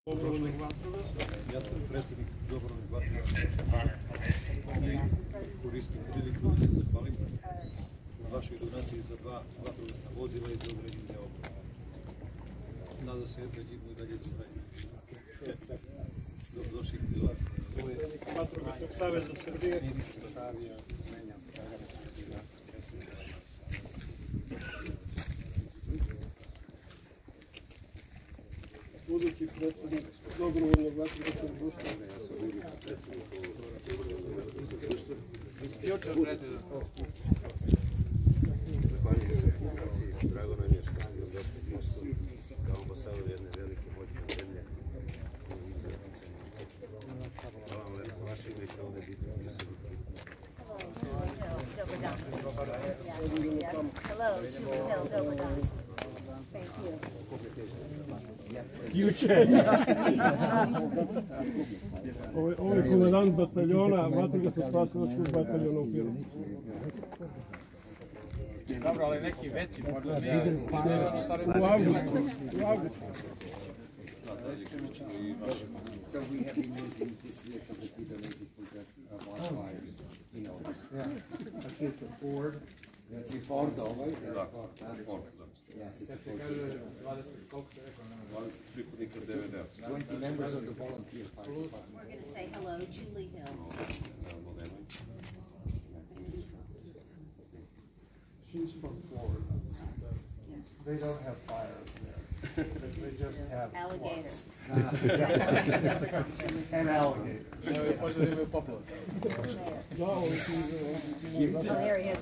Ja sam predsjednik dobrovoljnog vatrogasnog i koristim priliku da se zahvalim na vašoj donaciji za 2 vatrogasna vozila i za određenje opreme. Nadam se da ćemo i dalje da sredimo. Dobrodošli do Vatrogasnog saveza Srbije. Budući predsjednik dobrovoljnog vatrogasnog društva. Zahvaljujem se donaciji. Drago nam je što ste nam dati mostu kao ambasador jedne velike moćne zemlje. Hvala vam lepo. Vaše ime će ovdje biti upisano. Ovo je komandant bataljona, vatrogasno-spasilačkog bataljona u Pirotu. Dobro, ali neki veći, možda U avgustu. So we have been using this vehicle that we donated for the wildfires in August. Znači, it's a Ford. That's a Ford, Ford. Yes, it's a Ford. 20 pripadnika DVD-a. 20 members of the volunteer fire department. We're going to say hello, Julie Hill. She's from Florida. They don't have fires there. They just have Alligators. and alligators. možda imaju poplov. No, Oh, there he is.